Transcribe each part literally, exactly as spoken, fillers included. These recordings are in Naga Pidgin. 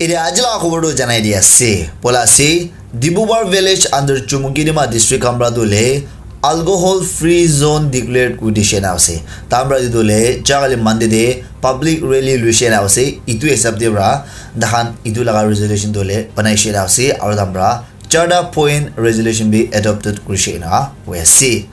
Ite aji laga khobor tu janai di ase. Bola ase, Dibubar village under Chumukedima district khan pra tu le alcohol free zone declared kuri dishe na ase. Tahan pra itu le jaga le Monday de public rally luishe na ase. Itu hisab de pra tahan itu laga resolution tu le banai she na ase. Aro tahan pra charta point resolution bi adopted kurishe na koi ase.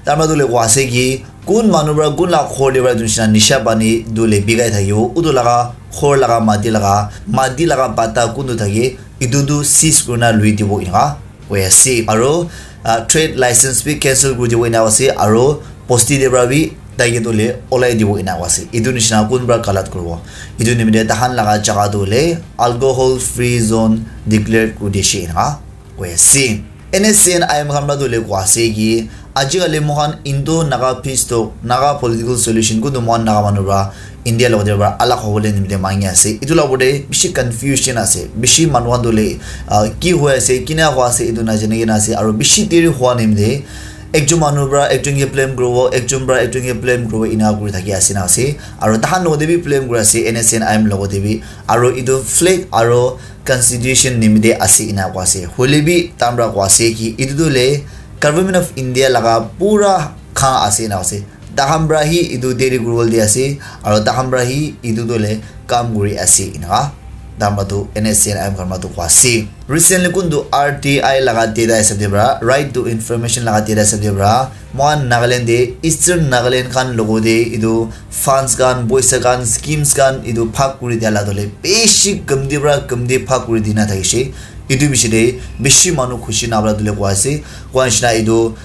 Tahan pra tu le koi ase ki kun manu pra kun la khor de pra tu nishina nisha pani tu le bigai thakibo. Utu laga khor laga mati laga, mati laga pata kun tu thake, itu tu seize kurina lui dibo inaka koi ase. Aro, ah, trade license bi cancel kuri dibo inaka ase. Aro bosti de pra bi taike tu le olai dibo inaka ase. Itu nishina kun pra galat kuribo. Itu nimite tahan laga jaga tu le alcohol free zone declare kuri dishe inaka koi ase. N S C N I M khan pra tu le koi ase ki ajikali moikhan Indo Naga peace talk, Naga political solution kuntu moikhan Naga manu pra India logote pra alag hobole nimite mangi ase. Itu la opor te bishi confusion ase. Bishi manu khan tu le, ah, ki hoi ase, kina hoi ase, itu najani kena ase. Aro bishi deri hwa nimite ekjon manu pra ekjon ke blame kuribo, ekjon pra ekjon ke blame kuribo, ina kuri thaki ase na ase. Aro tahan logote bi blame kuri ase, N S C N I M logote bi. Aro itu flag aro constitution nimite ase ina koi ase. Hoile bi tahan pra koi ase ki itu tu le Government of India laga pura khan ase ina ase. Tahan pra hi itu deri kuribole di ase, aro tahan pra hi itu tu le kam kuri ase ina. Tahan pra tu N S C N I M khan pra tu koi ase. Recently kuntu R T I laga data hisab de pra, Right to Information laga data hisab de pra, moikhan Nagaland de, Eastern Nagaland khan logote itu funds khan, poisa khan, schemes khan itu bhag kuri dia la tu le bishi kamti pra kamti bhag kuri dina thakishe. Itu bishi de bishi manu khushi nabra tu le koi ase. Koi nishina itu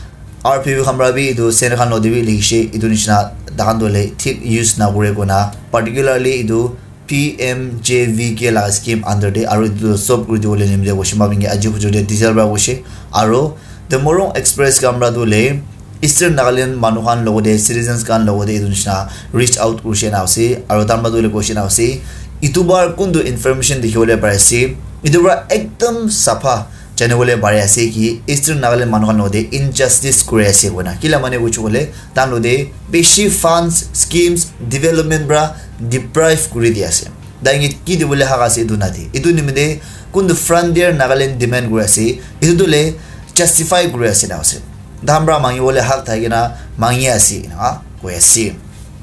R P P khan pra bi itu center khan logote bi likhishe. Itu nishina tahan tu le thik use nakure koina, particularly itu P M J V K laga scheme under de, aro itu stop kuri dibole nimite koishe, ma bingi aji hujur de diesel pra koishe. Aro The Morung Express khan pra tu le Eastern Nagaland manu khan logote, citizens khan logote itu nishina reach out kurishe na ase, aro tahan pra tu le koishe na ase. Itu bar kuntu information dikhibole pari ase, itu pra ekdam sapha janibole pari ase ki Eastern Nagaland manu khan logote injustice kuri ase koina. Kila mane kuchu kole, tahan logote bishi funds, schemes, development pra deprive kuri di ase. Tahan ke ki dibole hak ase itu nadi. Itu nimite kuntu Frontier Nagaland demand kuri ase, itu tu le justify kuri ase na ase. Tahan pra mangi bole hak thaki na mangi ase ina koi ase.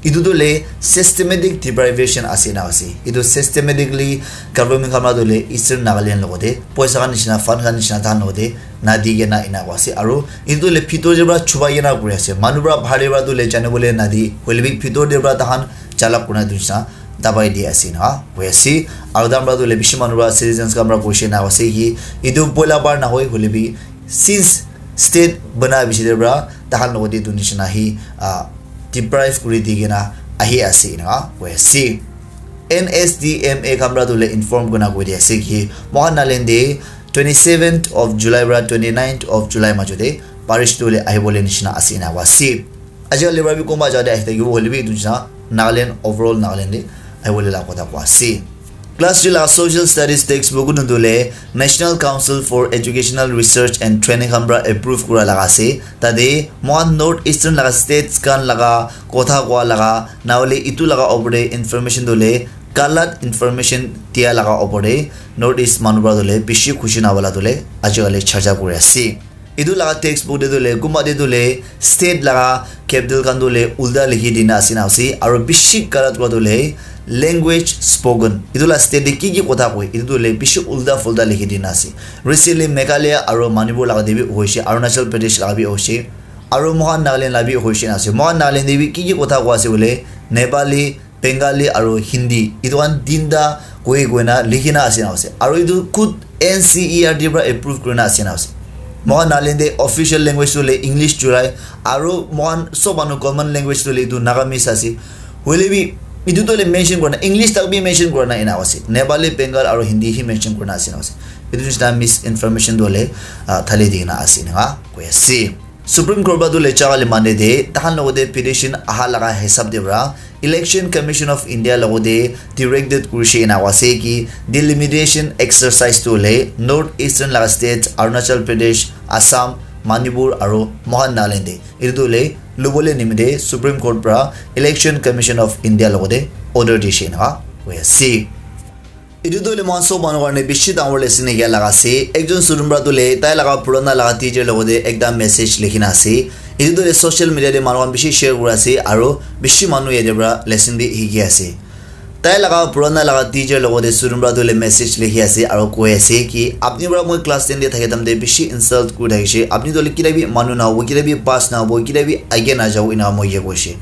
Itu tu le systematic deprivation ase na ase. Itu systematically government khan pra tu le Eastern Nagaland logote poisa khan nishina, fund khan nishina tahan logote nadi kena ina koi ase. Aro itu tu le bhitor de pra chubai kena kuri ase. Manu pra bahar de pra tu le janibole nadi. Hoile bi bhitor de pra tahan chalak kurina itu nishina dabai di ase na koi ase. Aro tahan pra tu le bishi manu pra citizens khan pra koishe na ase ki itu poila bar na hoi, hoile bi since state bana bishi de pra tahan logote itu nishina hi, ah, deprive kuri di kena ahi ase ina koi ase. N S D M A khan pra tu le inform kurina koi di ase ki moikhan Nagaland de twenty seventh of July pra twenty ninth of July majo de parish tu le ahibole nishina ase ina koi ase. Ajikali pra bi kunba jaga de ahi thakibo, hoile bi itu nishina Nagaland, overall Nagaland de ahibole la kotha koi ase. Class three la social studies textbook kuntu le National Council for Educational Research and Training khan pra approve kura laga ase. Tate moikhan North Eastern laga states khan laga kotha koa laga, nahole itu laga opor te information tu le galat information dia laga opor te North East manu pra tu le bishi khushi nabala tu le ajikali charcha kuri ase. Itu laga textbook te tu le, kunba te tu le, state laga capital khan tu le ulta likhi dina ase na ase, aro bishi galat kura tu le language spoken. Itu la state te ki ki kotha koi, itu tu le bishi ulta fulta likhi dina ase. Recently Meghalaya aro Manipur laga te bi hoishe, Arunachal Pradesh laga bi hoishe, aro moikhan Nagaland la bi hoishe na ase. Moikhan Nagaland te bi ki ki kotha koi ase bole, Nepali, Bengali aro Hindi, itu khan tinta koi koina likhina ase na ase. Aro itu khud N C E R T pra approve kurina ase na ase. Moikhan Nagaland te official language tu le English churai, aro moikhan sob manu common language tu le itu Nagamese ase. Hoile bi itu tu le mention kurina, English tak bi mention kurina ena ase. Nepali, Bengal aro Hindi hi mention kurina ase na ase. Itu nishina misinformation tu le, ah, thali dikena ase na koi ase. Supreme Court pra tu le jaga le mane de, tahan logote petition aha laga hisab de pra, Election Commission of India logote directed kurishe ena ase ki delimitation exercise tu le North Eastern laga states, Arunachal Pradesh, Assam, Manipur aro moikhan Nagaland de. Itu tu le lubole nimite Supreme Court pra Election Commission of India logote order dishe ena koi ase. Etu tu le moikhan sob manu karne bishi dangor lesson ekya laga ase. Ekjon student para tu le tai laga purana laga teacher logote ekta message likhi na ase. Etu tu le social media te manu khan bishi share kura ase aro bishi manu yate para lesson bi hiki ase. Tai laga purana laga teacher logote student para tu le message likhi ase aro koi ase ki apni para moi class ten te thake time te bishi insult kuri thakishe. Apni tu le kila bi manu na hobo, kila bi pass na hobo, kila bi age na jabo ena moi ye koishe.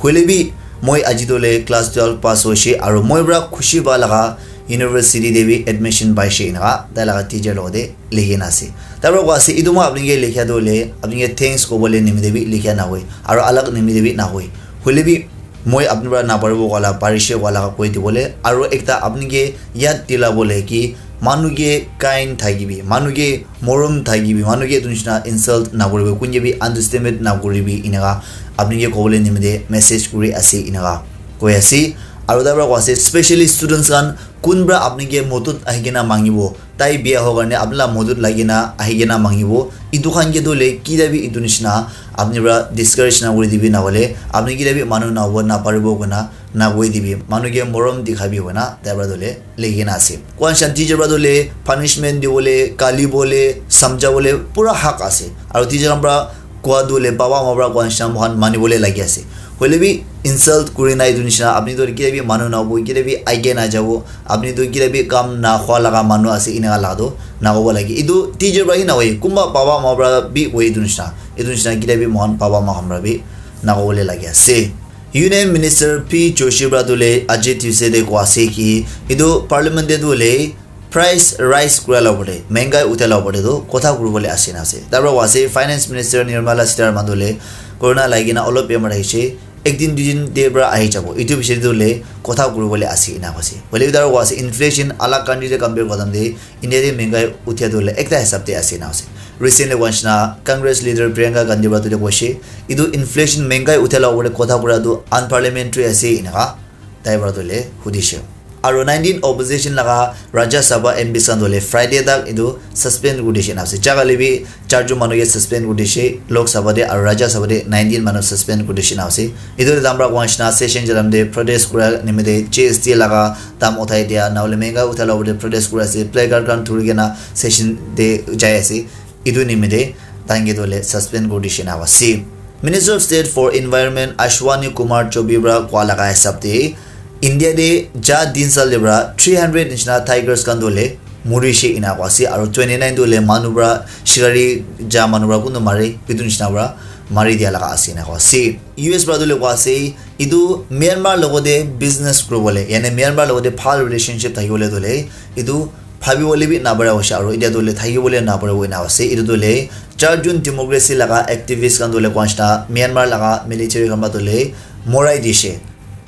Hoile bi moi aji tu le class twelve pass hoishe aro moi para khushi pa laga university te bi admission paishe enaka tai laga teacher logote likhi na ase. Tar para koi ase, "Etu moi apni ke likhia tu hoile apni ke thanks kobole nimite bi likhia na hoi aro alag nimite bi na hoi. Hoile bi moi apni para na paribo koa la parishe koa laga koi dibole aro ekta apni ke yad dila bole ki manu ke kind thakibi, manu ke morom thakibi, manu ke etu nishina insult na kuribi, kun ke bi underestimate na kuribi," enaka apni ke kobole nimite message kuri ase enaka koi ase. Aro tar para koi ase, specially students khan kun para apni ke modot ahi kena mangibo, tai bia ho karne apni la modot lagi na ahi kena mangibo, etu khan ke tu le kida bi etu nishina apni para discourage na kuri dibi na hole apni kida bi manu na hobo na paribo koina na koi dibi, manu ke morom dikhabi koina tai para tu le likhi na ase. Koi shanti je para tu le punishment dibole, kali bole, samjha bole pura hak ase. Aro teacher khan para koa tu le baba ma para koa nishina moikhan mani bole lagi ase. Hoile bi insult kuri na etu nishina apni tu kile bi manu na hobo, kile bi age na jabo, apni tu kile bi kam na khwa laga manu ase enaka laga tu na hobo lagi. Etu teacher para hi na hoi, kunba baba ma para bi hoi etu nishina. Etu nishina kile bi moikhan baba ma khan para bi na hobole lagi ase. Union Minister P Joshi para tu le aji Tuesday te koa ase ki etu parliament te tu le price rise kura la opor te, mengai uthia la opor te tu kotha kuri bole ase na ase. Tar para koi ase Finance Minister Nirmala Sitharaman tu le corona lagi na olop bemar ahishe, ek din dui din te para ahi jabo. Etu bishe tu le kotha kuri bole ase ena koi ase. Hoile bi tar para koi ase inflation alag country te compare kura time te India te mengai uthia tu le ekta hisab te ase na ase. Recently koi nishina Congress leader Priyanka Gandhi para tu le koishe, "Etu inflation mengai uthia la opor te kotha kura tu unparliamentary ase," enaka tai para tu le hudishe. Aro nineteen opposition laga Rajya Sabha M Ps khan tu le Friday tak etu suspend kuri dishe na ase. Jaga le bi charjon manu ke suspend kuri dishe Lok Sabha te aro Rajya Sabha te nineteen manu suspend kuri dishe na ase. Etu le dam para koi nishina session jalam te protest kura nimite G S T laga dam uthai dia na hole mengai uthai la opor te protest kuri ase, placard khan thuri kena session te jai ase. Etu nimite tai ke tu le suspend kuri dishe na ase. Minister of State for Environment Ashwani Kumar Chowbey para koa laga hisab te India te ja din sal te para three hundred nishina tigers khan tu le murishe ena koi ase aro twenty nine tu le manu para shikari ja manu para kuntu mare etu nishina para mari dia laga ase ena koi ase. U S para tu le koi ase etu Myanmar logote business kuri bole, yani Myanmar logote bhal relationship thaki bole tu le etu bhabi bole bi na pare hoise aro etia tu le thaki bole na pare hoina ase. Etu tu le charjon democracy laga activist khan tu le koi nishina Myanmar laga military khan para tu le morai dishe.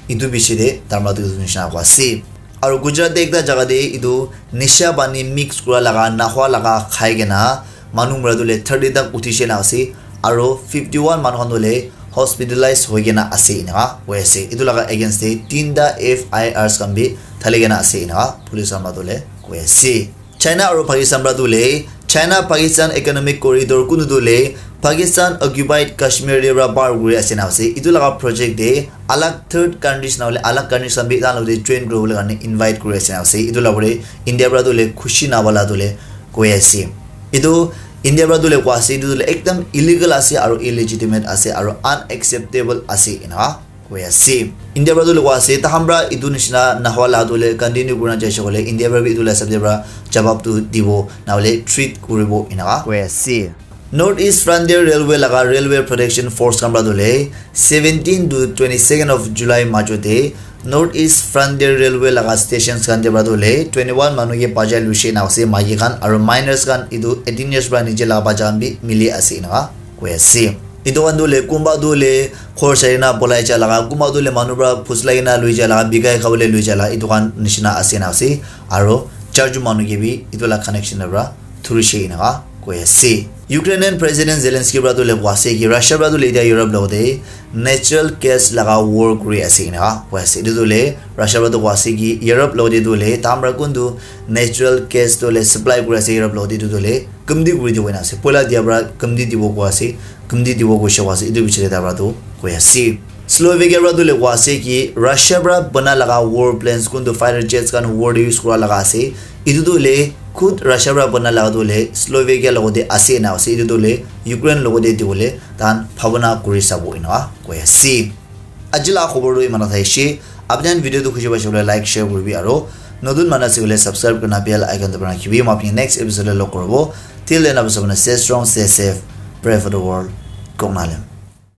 Etu bishi te dharma tu etu nishina koi ase. Aro Gujarat te ekta jaga te etu nisha pani mix kura laga, nahwa laga khai kena manu mura tu le thirty tak uthi she na ase. Aro fifty one manu khan tu le hospitalize hoi kena ase enaka koi ase. Etu laga against te tinta F I Rs khan bi thali kena ase enaka police khan para tu le koi ase. China aro Pakistan para tu le, China Pakistan Economic Corridor kunu tu le Pakistan occupied Kashmir te para par kuri ase na ase. Etu laga project te alag third countries na hole alag countries khan bi tai khan logote join kuri bole karne invite kuri ase na ase. Etu laga pore India para tu le khushi na wala tu le koi ase. Etu India para tu le koi ase, etu tu le ekdam illegal ase aro illegitimate ase aro unacceptable ase enaka koi ase. India para tu le koi ase, takhan para etu nishina nahwa la tu le continue kurina jaise koile India para bi etu la hisab te para jawab tu dibo na hole treat kuribo enaka koi ase. North East Frontier Railway laga Railway Protection Force khan para tu le seventeen to twenty second of July majo te North East Frontier Railway laga stations khan te para tu le twenty one manu ke bajai luishe na ase, maiki khan aro minors khan etu eighteen years para niche laga bacha khan bi mili ase enaka koi ase. Etu khan tu le kunba tu le khor sari na polai ja laga, kunba tu le manu para phuslai kena lui ja laga, bikai khabole lui ja laga, etu khan nishina ase na ase. Aro charjon manu ke bi etu la connection la para thurishe enaka koi ase. Ukrainian President Zelensky para tu le koi ase ki Russia para tu le etia Europe logote natural gas laga war kuri ase enaka koi ase. Etu tu le Russia para tu koi ase ki Europe logote tu le tai khan para kuntu natural gas tu le supply kuri ase Europe logote, etu tu le kamti kuri dibo ena ase. Poila dia para kamti dibo koi ase, kamti dibo koishe koi ase, etu bichare tai para tu koi ase. Slovakia para tu le koa ase ki Russia para bana laga war planes kuntu fighter jets khan war te use kura laga ase. Etu tu le khud Russia para bana laga tu le Slovakia logo te ase na ase. Etu tu le Ukraine logo te dibo le tan bhabana kuri sabo ena koi ase. Aji la khobor tu imana thaishe. Apni khan video tu khushi paishe koile like, share kuribi aro notun manu ase koile subscribe kurina bell icon dabai rakhibi. Moi apni next episode te log koribo. Till then, apni sabone stay strong, stay safe, pray for the world. Kok Nalem.